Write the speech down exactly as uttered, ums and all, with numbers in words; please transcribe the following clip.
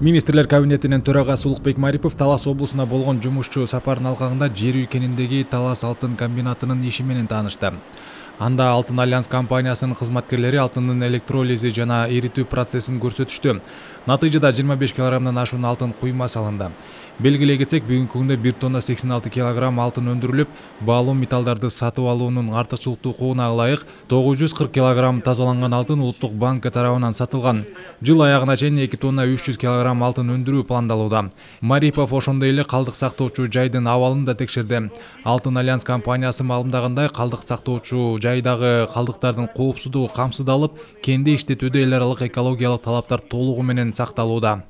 Министрлер кабинетинин төрагасы Улукбек Марипов Талас облусуна болгон жумушчу сапарын алганда жер үйкениндеги Талас алтын комбинатынын иши менен таанышты. Анда Алтын Альянс компаниясынын кызматкерлери алтындын электролизи жана эритүү процессин көрсөтүштү. Натыйжада жыйырма беш килограммдан ашуун алтын куйма салынды. Белгилей кетсек, бүгүнкү күндө бир тонна сексен алты килограмм алтын өндүрүлүп, баалуу металлдарды сатып алуунун артыкчылыктуу укугуна ылайык тогуз жүз кырк килограмм тазаланган алтын Улуттук банк тарабынан сатылган. Жыл аягына чейин эки тонна үч жүз килограмм алтын өндүрүү пландалууда. Марипов ошондой эле калдык сактоочу жайдын абалын да текшерди. Алтын Альянс компаниясы маалымдагандай, калдык сактоочу жайдагы калдыктардын коопсуздугу камсыздалып, кенди иштетүүдө эл аралык экологиялык талаптар толугу менен сакталууда.